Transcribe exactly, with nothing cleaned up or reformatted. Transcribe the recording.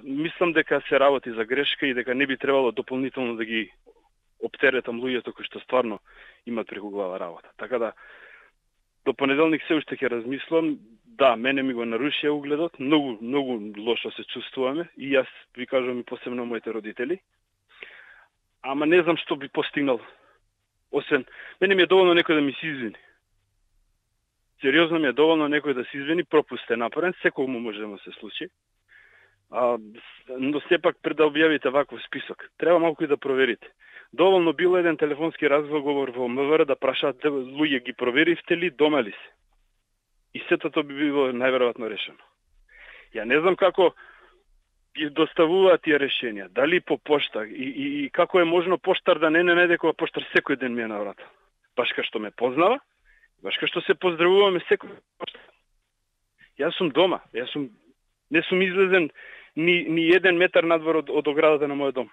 мислам дека се работи за грешка и дека не би требало дополнително да ги оптеретам луѓето кои што стварно имат преку глава работа. Така да, до понеделник се уште ќе размислам. Да, мене ми го нарушија угледот, многу, многу лошо се чувствуваме и јас ви кажувам и посебно моите родители. Ама не знам што би постигнал. Освен, мене ми е доволно некој да ми се извини. Сериозно ми е доволно некој да се извини, пропуст е направен, секому може да му се случи. А, но сепак пред да објавите ваков список, треба малку и да проверите. Доволно било еден телефонски разговор во МВР да прашаат луѓе ги проверивте ли, дома ли се. И сето тоа би било најверојатно решено. Ја не знам како ги доставуваат тие решенија, дали по пошта и, и, и како е можно поштар да не не најде кога поштар секој ден ми е на врата. Баш кај што ме познава, баш кај што се поздравуваме секој поштар. Јас сум дома, јас сум не сум излезен ни, ни еден метар надвор од, од оградата на мојот дом.